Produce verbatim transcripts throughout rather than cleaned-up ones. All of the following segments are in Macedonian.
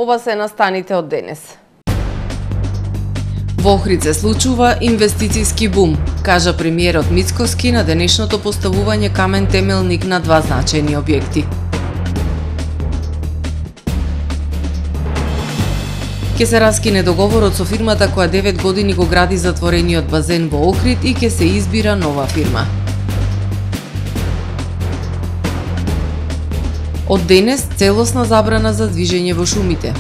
Ова се настаните од денес. Во Охрид се случува инвестицијски бум, кажа премиерот Мицкоски на денешното поставување камен темелник на два значајни објекти. Ке се раскине договорот со фирмата која девет години го гради затворениот базен во Охрид и ке се избира нова фирма. Од денес целосна забрана за движење во шумите.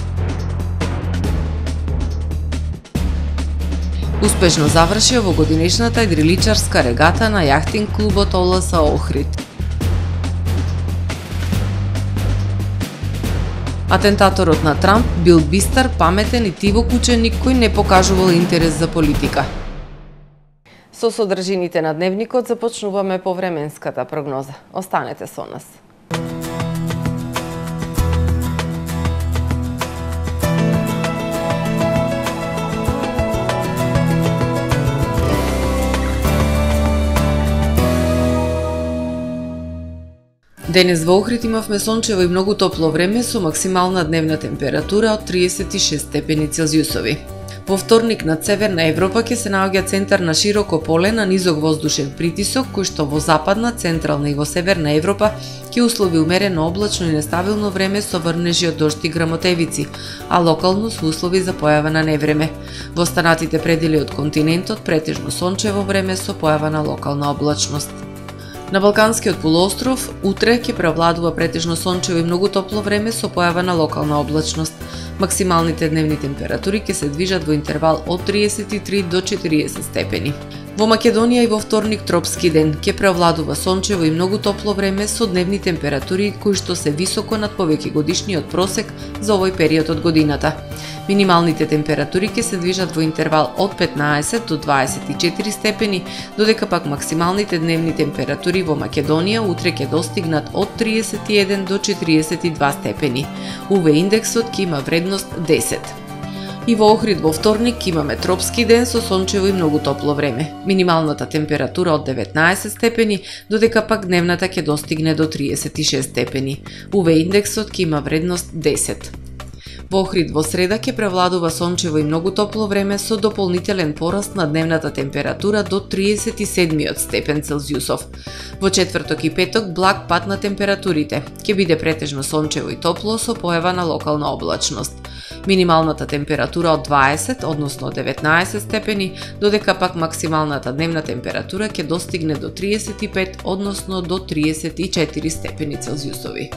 Успешно завршија во годинешната идриличарска регата на јахтинг клубот О Л С Охрид. Атентаторот на Трамп бил бистар, паметен и тивок ученик кој не покажувал интерес за политика. Со содржините на дневникот започнуваме по временската прогноза. Останете со нас. Денес во Охрид имавме сончево и многу топло време со максимална дневна температура од триесет и шест степени Целзиусови. Во вторник над Северна Европа ќе се наоѓа центар на широко поле на низок воздушен притисок, кој што во западна, централна и во Северна Европа ќе услови умерено облачно и нестабилно време со врнежи од дожд и грамотевици, а локално со услови за појава на невреме. Во останатите предели од континентот претежно сончево време со појава на локална облачност. На Балканскиот полуостров утре ќе превладува претежно сончево и многу топло време со појава на локална облачност. Максималните дневни температури ќе се движат во интервал од триесет и три до четириесет степени. Во Македонија и во вторник тропски ден ќе преовладува сончево и многу топло време со дневни температури кои што се високо над повеќе годишниот просек за овој период од годината. Минималните температури ќе се движат во интервал од петнаесет до дваесет и четири степени, додека пак максималните дневни температури во Македонија утре ќе достигнат од триесет и еден до четириесет и два степени. У В индексот ќе има вредност десет. И во Охрид во вторник имаме тропски ден со сончево и многу топло време. Минималната температура од деветнаесет степени, додека пак дневната ќе достигне до триесет и шест степени. У В индексот ќе има вредност десет. Во Охрид во среда ќе превладува сончево и многу топло време со дополнителен пораст на дневната температура до триесет и седмиот степен Целзиусов. Во четврток и петок благ пад на температурите. Ќе биде претежно сончево и топло со појава на локална облачност. Минималната температура од дваесет, односно деветнаесет степени, додека пак максималната дневна температура ќе достигне до триесет и пет, односно до триесет и четири степени Целзиусови.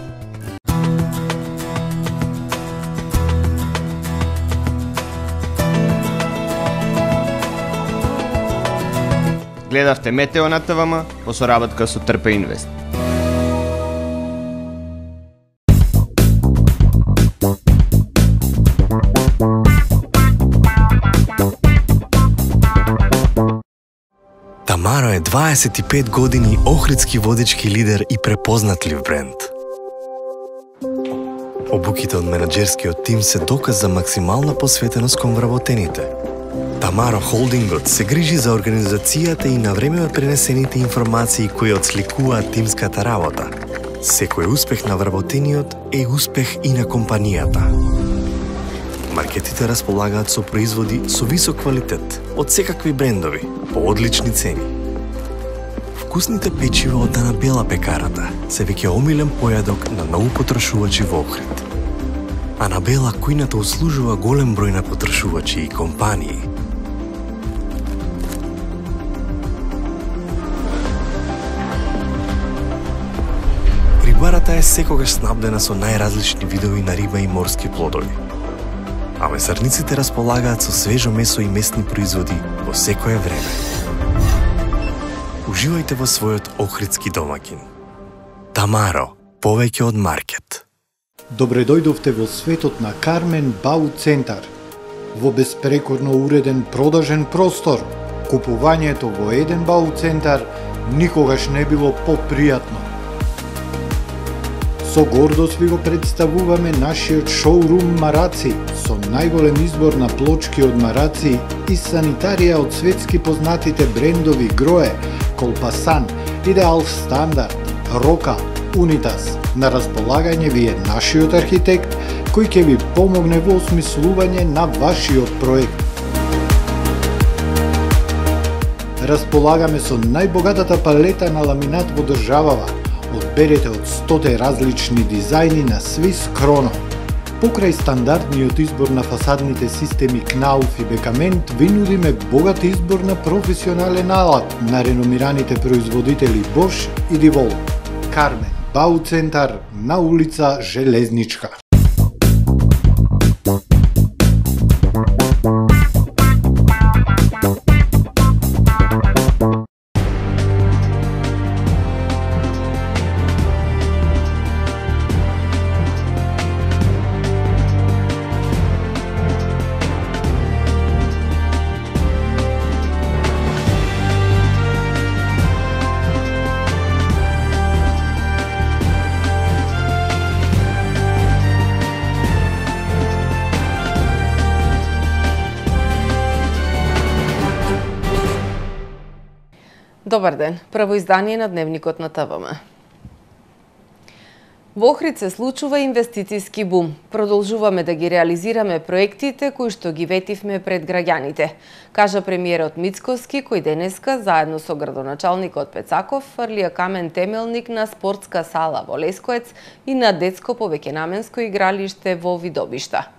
Гледавте Метео на Т В М по соработка со Трпе Инвест. Тамаро е дваесет и пет години охридски водички лидер и препознатлив бренд. Обуките од менаџерскиот тим се доказ за максимална посветеност кон вработените. Тамаро Холдингот се грижи за организацијата и на време пренесените информации кои отсликуваат тимската работа. Секој успех на вработениот е успех и на компанијата. Маркетите располагаат со производи со висок квалитет од секакви брендови по одлични цени. Вкусните печива од Анабела пекарата се веќе омилен појадок на многу потрошувачи во Охрид. Анабела кујната услужува голем број на потрошувачи и компании. Рибарата е секогаш снабдена со најразлични видови на риба и морски плодови. А месарниците располагаат со свежо месо и месни производи во секое време. Уживајте во својот охридски домаќин. Тамаро, повеќе од маркет. Добре дојдовте во светот на Кармен Бау Центар. Во безпрекорно уреден продажен простор, купувањето во еден Бау Центар никогаш не било попријатно. Со гордост ви го представуваме нашиот шоурум Мараци, со најголем избор на плочки од мараци и санитарија од светски познатите брендови Грое, Колпасан, Идеал Стандард, Рока, Унитас. На располагање ви е нашиот архитект кој ќе ви помогне во осмислување на вашиот проект. Располагаме со најбогатата палета на ламинат во државава. Одберете од стоте различни дизајни на Swiss Chrono. Покрај стандардниот избор на фасадните системи Knauf и Бекамент, ви нудиме богат избор на професионален алат на реномираните производители Bosch и DeWalt. Кармен Бауцентар на улица Железничка. Добар ден, прво издание на Дневникот на ТВМ. Во Охрид се случува инвестицијски бум. Продолжуваме да ги реализираме проектите кои што ги ветивме пред граѓаните, кажа премиерот Мицкоски, кој денеска заедно со градоначалникот Пецаков фрлија камен темелник на спортска сала во Лескоец и на детско повеќенаменско игралиште во Видобишта.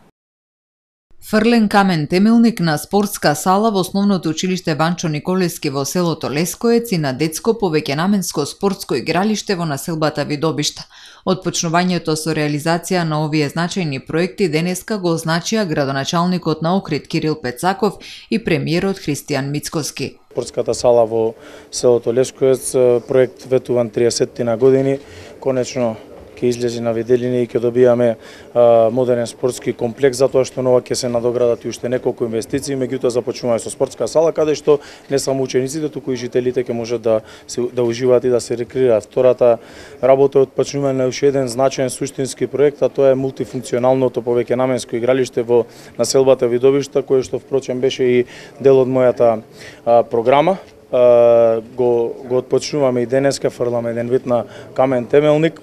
Фрлен камен темелник на спортска сала во основното училиште Ванчо Николевски во селото Лескоец и на детско повеќенаменско спортско игралиште во населбата Видобишта. Отпочнувањето со реализација на овие значајни проекти денеска го означија градоначалникот на Охрид Кирил Пецаков и премиерот Христијан Мицкоски. Спортската сала во селото Лескоец, проект ветуван триесет на години, конечно ќе излезе на виделини и ќе добијаме а, модерен спортски комплекс, затоа што нова ќе се надоградат и уште неколку инвестиции, меѓутоа започнуваме со спортска сала, каде што не само учениците, туку и жителите ќе можат да се да уживаат и да се рекреираат. Втората работа е отпочнување на уште еден значаен суштински проект, а тоа е мултифункционалното повеќенаменско игралиште во населбата Видобишта, кое што впрочем беше и дел од мојата а, програма. А, го го отпочнуваме и денеска, фрламе еден вид на камен темелник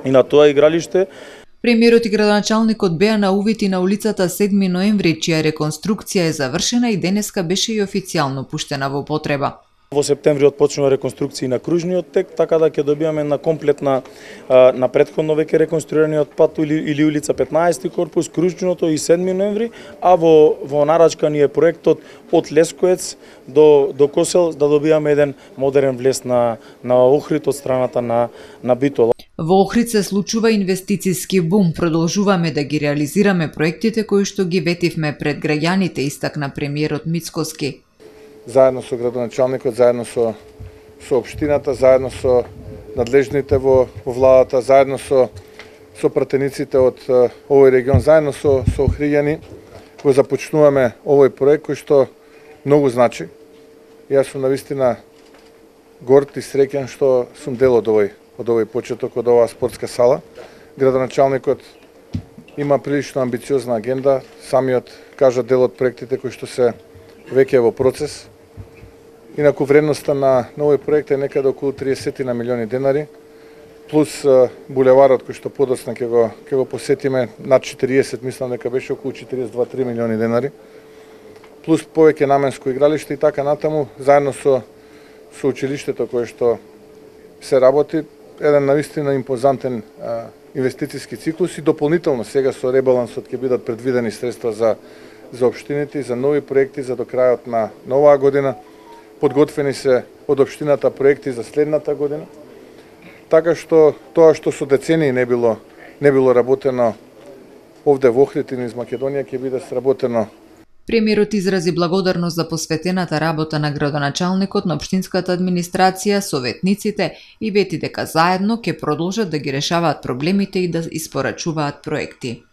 и на тоа игралиште. Премиерот и градоначалникот беа на увид и на улицата седми ноември, чија реконструкција е завршена и денеска беше и официјално пуштена во употреба. Во септември отпочнува реконструкција на кружниот тек, така да ќе добијаме на комплетна на претходно веќе реконструираниот пат или, или улица петнаесети корпус, кружното и седми ноември, а во во нарачка ни е проектот од Лескоец до до Косел да добијаме еден модерен влез на на Охрид од страната на на Битола. Во Охрид се случува инвестицијски бум. Продолжуваме да ги реализираме проектите кои што ги ветивме пред граѓаните, истакна премиерот Мицкоски. Заедно со градоначалникот, заедно со со општината, заедно со надлежните во, во владата, заедно со со пратениците од овој регион, заедно со со охриѓани, го започнуваме овој проект кој што многу значи. Јас сум навистина горд и среќен што сум дел од овој од овој почеток, од оваа спортска сала. Градоначалникот има прилично амбициозна агенда, самиот кажа дел од проектите кои што се веќе во процес. Инаку вредноста на овој проект е некаде околу триесет на милиони денари, плюс булеварот кој што подоцна ќе го ќе го посетиме над четириесет, мислам дека беше околу четириесет и два до три милиони денари, плюс повеќе наменско игралиште и така натаму, заедно со со училиштето кое што се работи, еден навистина импозантен а, инвестицијски циклус и дополнително сега со ребалансот ќе бидат предвидени средства за за општините и за нови проекти за до крајот на оваа година. Подготвени се од општината проекти за следната година. Така што тоа што со децении не било не било работено овде во Охрид и низ Македонија ќе биде сработено. Премиерот изрази благодарност за посветената работа на градоначалникот, на општинската администрација, советниците и вети дека заедно ќе продолжат да ги решаваат проблемите и да испорачуваат проекти.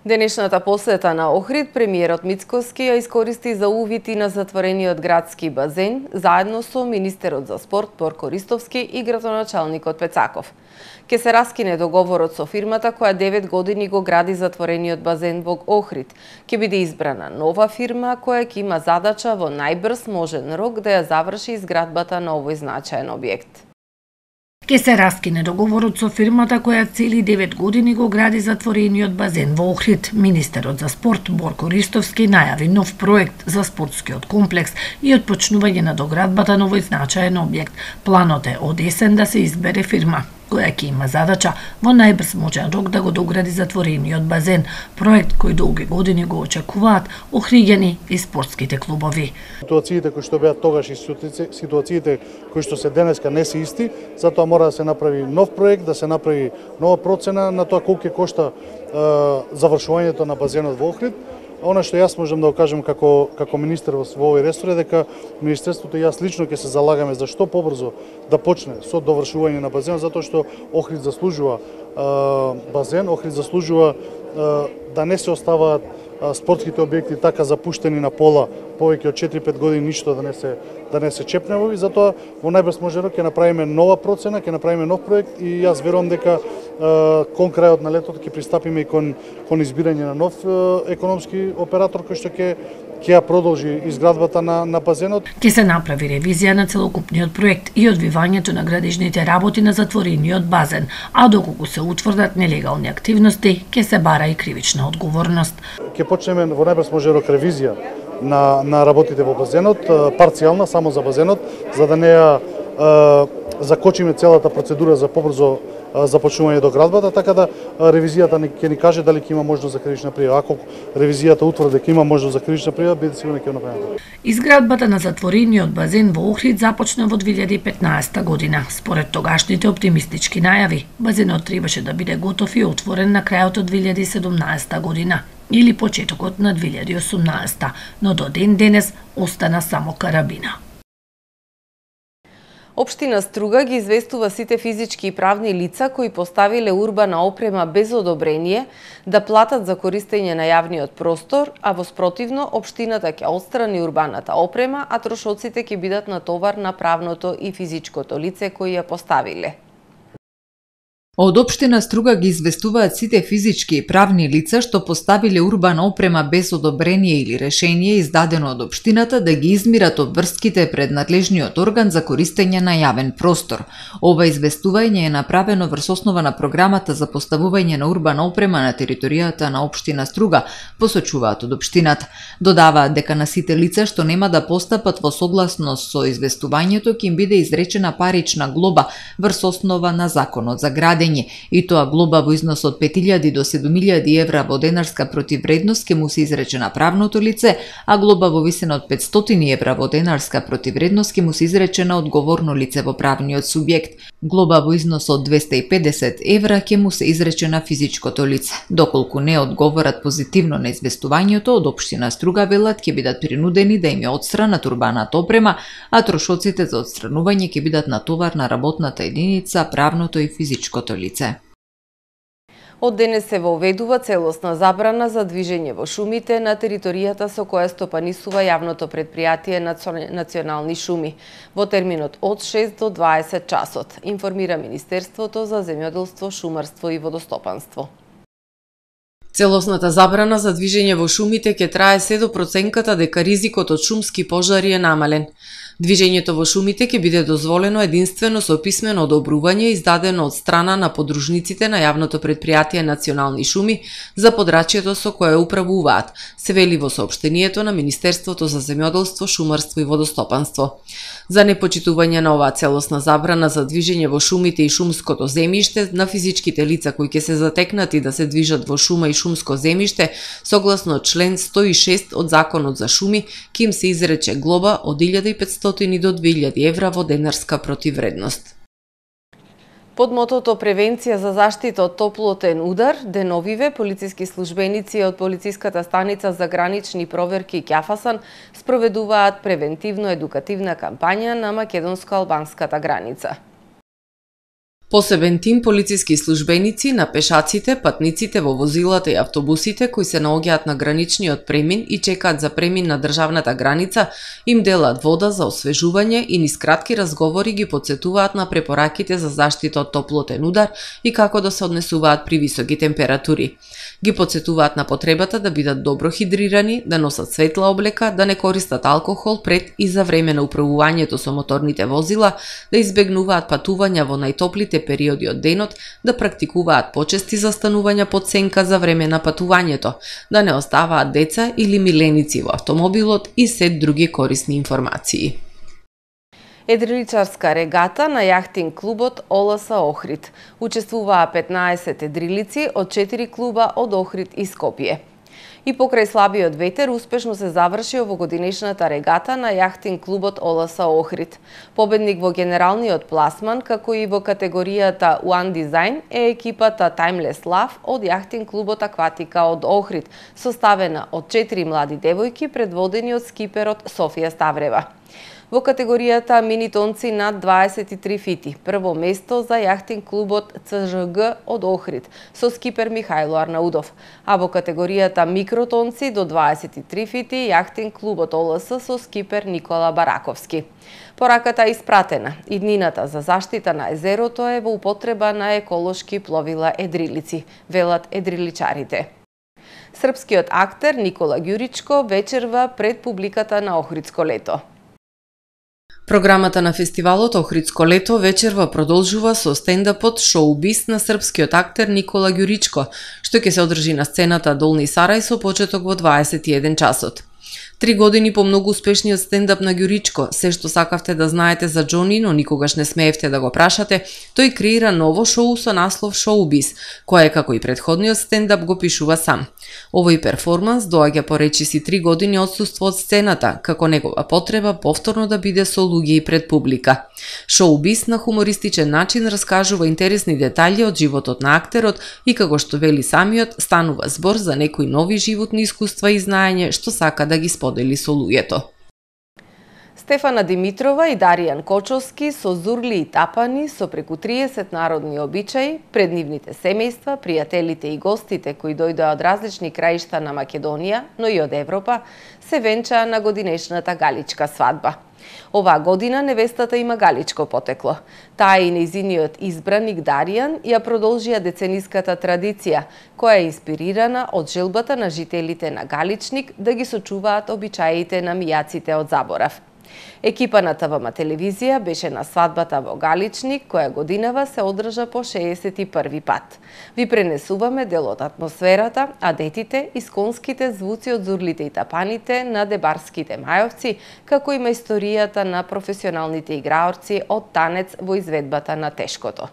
Денешната посета на Охрид, премиерот Мицкоски ја искористи за увид и на затворениот градски базен, заедно со министерот за спорт Борко Ристовски и градоначалникот Пецаков. Ке се раскине договорот со фирмата која девет години го гради затворениот базен во Охрид. Ке биде избрана нова фирма која ќе има задача во најбрз можен рок да ја заврши изградбата на овој значаен објект. Ке се раскине договорот со фирмата која цели девет години го гради затворениот базен во Охрид. Министерот за спорт Борко Ристовски најави нов проект за спортскиот комплекс и отпочнување на доградбата на овој значаен објект. Планот е од есен да се избере фирма која ќе има задача во најбрз можен рок да го догради затворениот базен, проект кој долги години го очекуваат охриѓани и спортските клубови. Ситуациите кои што беа тогаш и ситуациите кои што се денеска не се исти, затоа мора да се направи нов проект, да се направи нова процена на тоа колку ќе кошта е, завршувањето на базенот во Охрид. Она што јас можам да го кажам како како министер во овој ресор е дека министерството и јас лично ќе се залагаме за што побрзо да почне со довршување на базенот, затоа што Охрид заслужува е, базен, Охрид заслужува е, да не се оставаат е, спортските објекти така запуштени на пола повеќе од четири-пет години ништо да не се да не се чепне, и затоа во најбрз можен рок ќе направиме нова процена, ќе направиме нов проект и јас верувам дека кон крајот на летото ќе пристапиме и кон кон избирање на нов економски оператор кој што ќе ќе ја продолжи изградбата на на базенот. Ќе се направи ревизија на целокупниот проект и одвивањето на градежните работи на затворениот базен, а доколку се утврдат нелегални активности, ќе се бара и кривична одговорност. Ќе почнеме во најбрз можен рок ревизија на на работите во базенот, парцијална само за базенот, за да не ја закочиме целата процедура за побрзо започнување до градбата, така да ревизијата ќе ни каже дали ќе има можност за кривична пријава. Ако ревизијата утврди дека има можност за кривична пријава, бидете сигурни ќе го направиме. Изградбата на затворениот базен во Охрид започна во две илјади и петнаесета година. Според тогашните оптимистички најави, базенот требаше да биде готов и отворен на крајот од две илјади и седумнаесета година или почетокот на две илјади и осумнаесета, но до ден денес остана само карабина. Општина Струга ги известува сите физички и правни лица кои поставиле урбана опрема без одобрение да платат за користење на јавниот простор, а во спротивно општината ќе отстрани урбаната опрема, а трошоците ќе бидат на товар на правното и физичкото лице кои ја поставиле. Од општина Струга ги известуваат сите физички и правни лица што поставиле урбана опрема без одобрение или решение издадено од општината да ги измират обврските пред надлежниот орган за користење на јавен простор. Ова известување е направено врз основа на програмата за поставување на урбана опрема на територијата на општина Струга, посочуваат од општината. Додаваат дека на сите лица што нема да постапат во согласност со известувањето ќе им биде изречена парична глоба врз основа на законот за градење, и тоа глоба во износ од пет илјади до седум илјади евра во денарска противвредност ќе му се изрече на правното лице, а глоба во висина од петстотини евра во денарска противвредност ќе му се изрече на одговорно лице во правниот субјект. Глоба во износ од двесте и педесет евра ќе му се изрече на физичкото лице. Доколку не одговорат позитивно на известувањето, од општина Струга велат ќе бидат принудени да им ја отстранат урбаната опрема, а трошоците за отстранување ќе бидат на товар на работната единица, правното и физичкото лице. Од денес се воведува целосна забрана за движење во шумите на територијата со која стопанисува јавното претпријатие Национални шуми во терминот од шест до дваесет часот, информира Министерството за земјоделство, шумарство и водостопанство. Целосната забрана за движење во шумите ќе трае се до проценката дека ризикот од шумски пожари е намален. Движењето во шумите ќе биде дозволено единствено со писмено одобрување издадено од страна на подружниците на јавното претпријатие Национални шуми за подрачјето со кое управуваат, се вели во соопштението на Министерството за земјоделство, шумарство и водостопанство. За непочитување на оваа целосна забрана за движење во шумите и шумското земјиште на физичките лица кои ќе се затекнати да се движат во шума и шумско земјиште, согласно член сто и шест од Законот за шуми, ќе им се изрече глоба од илјада и петстотини до две илјади евра во денарска противвредност. Под мотото Превенција за заштита од топлотен удар, деновиве полициски службеници од полициската станица за гранични проверки Ќафасан спроведуваат превентивно-едукативна кампања на македонско-албанската граница. Посебен тим полициски службеници на пешаците, патниците во возилата и автобусите кои се наоѓаат на граничниот премин и чекаат за премин на државната граница, им делат вода за освежување и низ кратки разговори ги потсетуваат на препораките за заштита од топлотен удар и како да се однесуваат при високи температури. Ги потсетуваат на потребата да бидат добро хидрирани, да носат светла облека, да не користат алкохол пред и за време на управувањето со моторните возила, да избегнуваат патувања во најтоплите периоди од денот, да практикуваат почести застанувања под сенка за време на патувањето, да не оставаат деца или миленици во автомобилот и сет други корисни информации. Едриличарска регата на јахтинг клубот ОЛС Охрид. Учествуваа петнаесет едрилици од четири клуба од Охрид и Скопје. И покрај слабиот ветер успешно се заврши овогодинешната регата на јахтинг клубот ОЛС Охрид. Победник во генералниот пласман, како и во категоријата One Design е екипата Timeless Love од јахтинг клубот Акватика од Охрид, составена од четири млади девојки предводени од скиперот Софија Ставрева. Во категоријата минитонци над дваесет и три фити, прво место за јахтинг клубот Ц Ж Г од Охрид со скипер Михајло Арнаудов, а во категоријата микротонци до дваесет и три фити јахтинг клубот ОЛС со скипер Никола Бараковски. Пораката е испратена. Иднината за заштита на езерото е во употреба на еколошки пловила едрилици, велат едриличарите. Српскиот актер Никола Ѓуричко вечерва пред публиката на Охридско лето. Програмата на фестивалот Охридско лето вечерва продолжува со стендапот Шоубиз на српскиот актер Никола Ѓуричко, што ќе се одржи на сцената Долни Сарај со почеток во дваесет и еден часот. Три години по многу успешниот стендап на Ѓуричко, се што сакавте да знаете за Џони, но никогаш не смеевте да го прашате, тој креира ново шоу со наслов Шоубиз, кое како и претходниот стендап го пишува сам. Овој перформанс доаѓа по речиси три години отсуство од сцената, како негова потреба повторно да биде со луѓе и пред публика. Шоубиз на хумористичен начин раскажува интересни детали од животот на актерот и како што вели самиот, станува збор за некои нови животни искуства и знаење што сака да ги сподели со луѓето. Стефана Димитрова и Даријан Кочовски со зурли и тапани со преку триесет народни обичаи, пред нивните семејства, пријателите и гостите кои дојдоа од различни краишта на Македонија, но и од Европа, се венчаа на годинешната галичка свадба. Оваа година невестата има галичко потекло. Таа и нејзиниот избраник Даријан ја продолжија децениската традиција, која е инспирирана од желбата на жителите на Галичник да ги сочуваат обичаите на мијаците од заборав. Екипа на Т В М телевизија беше на свадбата во Галичник, која годинава се одржа по шеесет и први пат. Ви пренесуваме дел од атмосферата, а детите исконските звуци од зурлите и тапаните на дебарските мајовци, како и мајсторијата на професионалните играорци од танец во изведбата на тешкото.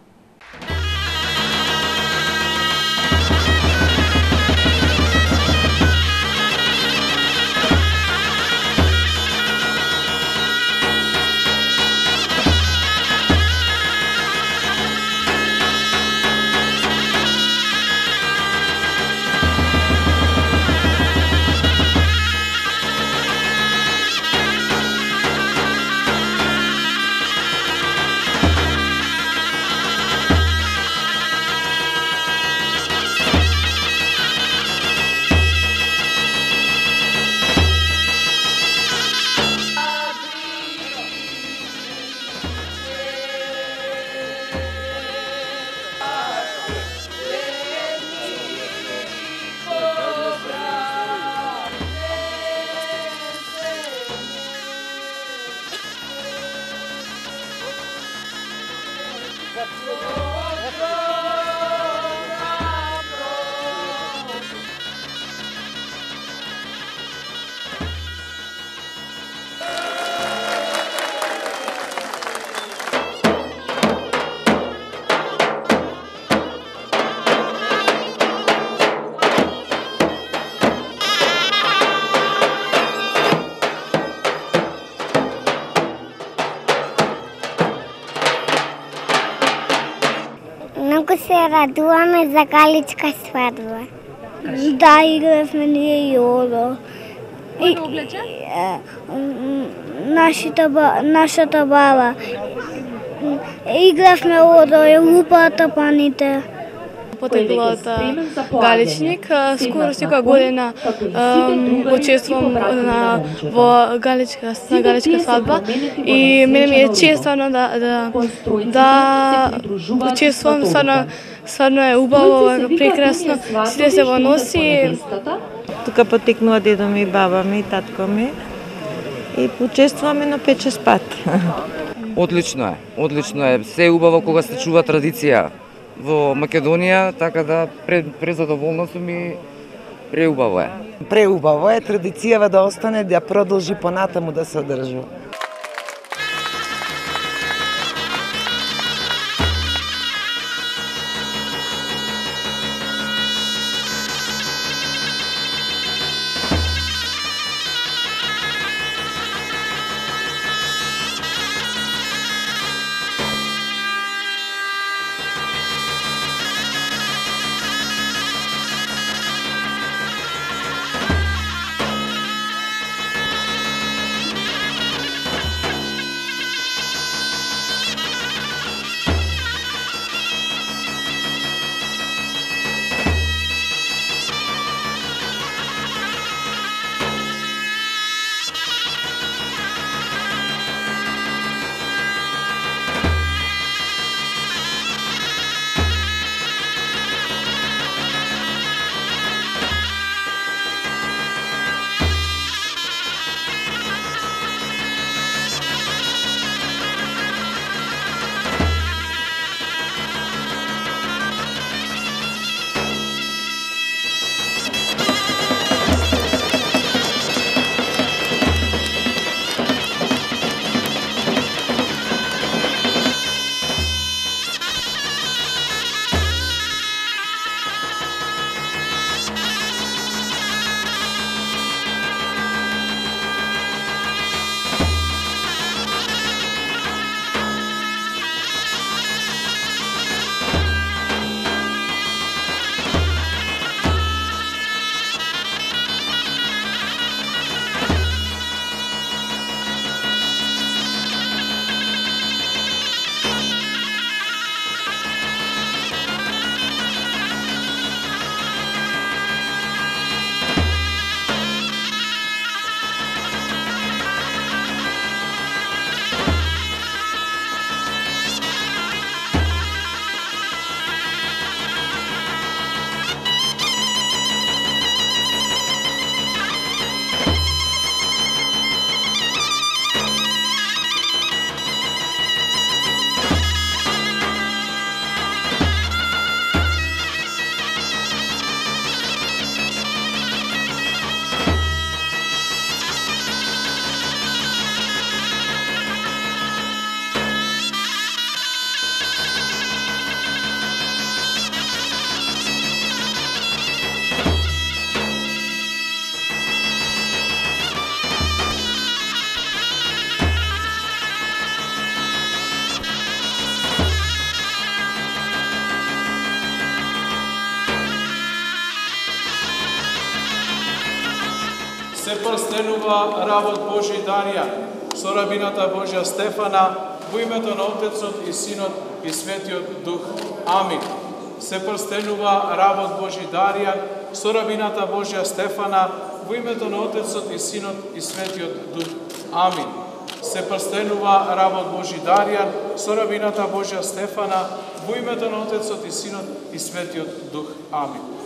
Многу се радуваме за галичка свадба. Да, игравме ние јоло. Кој го облече? Нашата, нашата баба. Игравме од лупата паните. Потекло од Галичник. Скоро секоја година учествувам на во галичка на галичка свадба и мене ми е чест стварно да да да учествувам, стварно стварно е убаво, прекрасно, сите се во носи. Тука потекнува дедо ми, баба ми, татко ми и учествуваме на пет-шест пат. Одлично е, одлично е. Се е убаво кога се чува традиција во Македонија, така да презадоволна сум и преубаво е. Преубаво е традицијава да остане, да продолжи понатаму да се одржува. се прстенува работ Божи Дарија со рабината Божја Стефана во името на Отецот и Синот и Светиот Дух. Амин. Се прстенува работ Божи Дарија со рабината Божја Стефана во името на Отецот и Синот и Светиот Дух. Амин. Се прстенува работ Божи Дарија со рабината Божја Стефана во името на Отецот и Синот и Светиот Дух. Амин.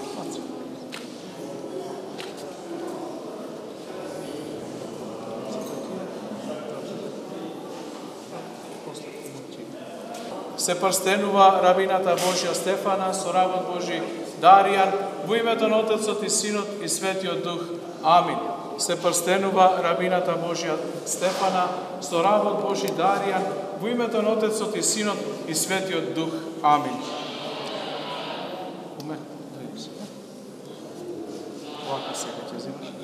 Се прстенува рабината Божја Стефана со работ Божи Даријан во името на Отецот и Синот и Светиот Дух. Амин. Се прстенува рабината Божја Стефана со работ Божи Даријан во името на Отецот и Синот и Светиот Дух. Амин. Вака сега ќе земаш.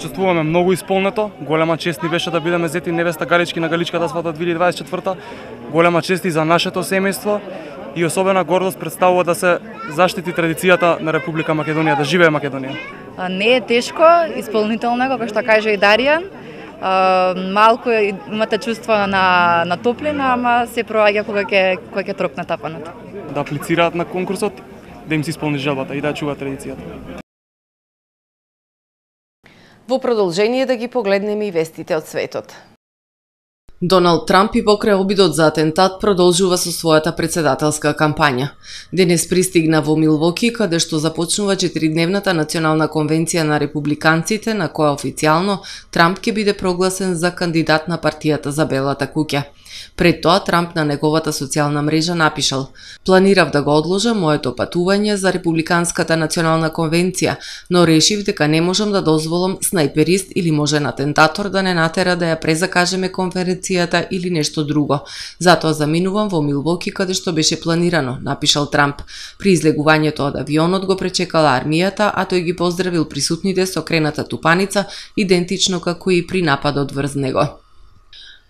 почувствуваме многу исполнето. Голема чест ни беше да бидеме зети невеста Галички на Галичката свадба две илјади дваесет и четврта. Голема чест и за нашето семејство и особена гордост представува да се заштити традицијата на Република Македонија, да живее Македонија. Не е тешко, исполнително, како што каже и Даријан. Малку имате чувство на, на топлина, ама се проаѓа кога ќе кога ќе тропне тапаната. Да аплицираат на конкурсот, да им се исполни желбата и да чува традицијата. Во продолжение да ги погледнеме и вестите од светот. Доналд Трамп и покрај обидот за атентат продолжува со својата председателска кампања. Денес пристигна во Милвоки, каде што започнува четиридневната национална конвенција на републиканците, на која официјално Трамп ќе биде прогласен за кандидат на партијата за Белата куќа. Пред тоа Трамп на неговата социјална мрежа напишал: "Планирав да го одложам моето патување за републиканската национална конвенција, но решив дека не можам да дозволам снајперист или можен атентатор да не натера да ја презакажеме конференцијата или нешто друго. Затоа заминувам во Милвоки каде што беше планирано", напишал Трамп. При излегувањето од авионот го пречекала армијата, а тој ги поздравил присутните со крената тупаница, идентично како и при нападот врз него.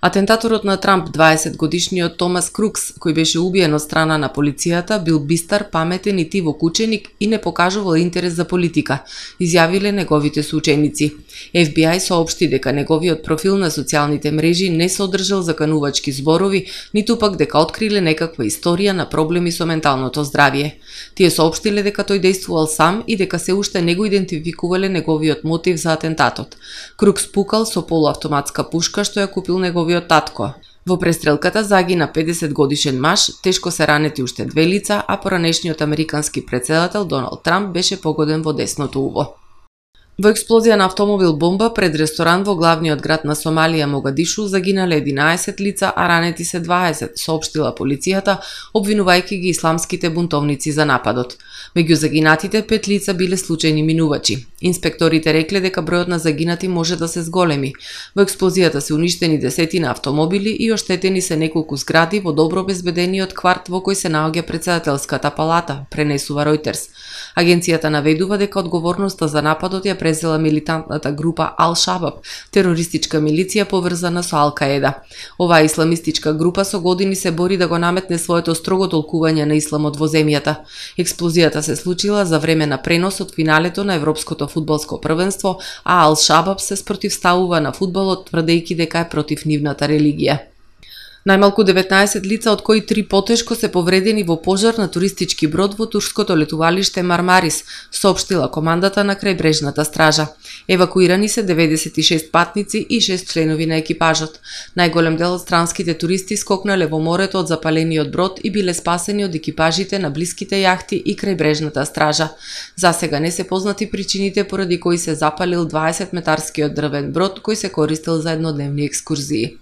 Атентаторот на Трамп, дваесетгодишниот Томас Крукс, кој беше убиен од страна на полицијата, бил бистар, паметен и тивокученик и не покажувал интерес за политика, изјавиле неговите соученици. Еф Би Ај соопшти дека неговиот профил на социјалните мрежи не содржал заканувачки зборови, ниту пак дека откриле некаква историја на проблеми со менталното здравје. Тие соопштиле дека тој действувал сам и дека се уште не го идентификувале неговиот мотив за атентатот. Крукс пукал со полуавтоматска пушка што ја купил неговиот татко. Во престрелката загина педесетгодишен маж, тешко се ранети уште две лица, а поранешниот американски претседател Доналд Трамп беше погоден во десното уво. Во експлозија на автомобил бомба пред ресторан во главниот град на Сомалија Могадишу загинале единаесет лица, а ранети се дваесет, соопштила полицијата, обвинувајќи ги исламските бунтовници за нападот. Меѓу загинатите пет лица биле случајни минувачи. Инспекторите рекле дека бројот на загинати може да се зголеми. Во експлозијата се уништени десетина автомобили и оштетени се неколку згради во добро обезбедениот кварт во кој се наоѓа претседателската палата, пренесува Ројтерс. Агенцијата наведува дека одговорноста за нападот ја презела милитантната група Ал-Шабаб, терористичка милиција поврзана со Ал-Каеда. Оваа исламистичка група со години се бори да го наметне своето строго толкување на исламот во земјата. Експлозијата се случила за време на пренос од финалето на Европското фудбалско првенство, а Ал-Шабаб се спротивставува на фудбалот, тврдејќи дека е против нивната религија. Најмалку деветнаесет лица, од кои три потешко, се повредени во пожар на туристички брод во турското летувалиште Мармарис, соопштила командата на крајбрежната стража. Евакуирани се деветдесет и шест патници и шест членови на екипажот. Најголем дел од странските туристи скокнале во морето од запалениот брод и биле спасени од екипажите на блиските јахти и крајбрежната стража. Засега не се познати причините поради кои се запалил дваесет метарскиот дрвен брод кој се користел за еднодневни екскурзии.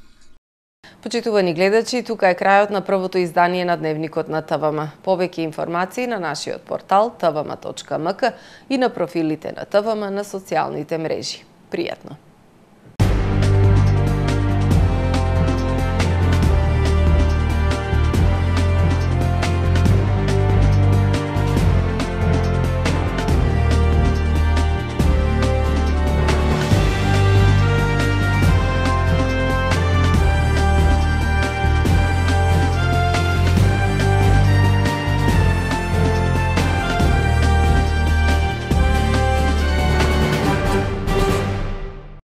Почитувани гледачи, тука е крајот на првото издание на Дневникот на Т В М. Повеќе информации на нашиот портал т в м точка м к и на профилите на Т В М на социјалните мрежи. Пријатно!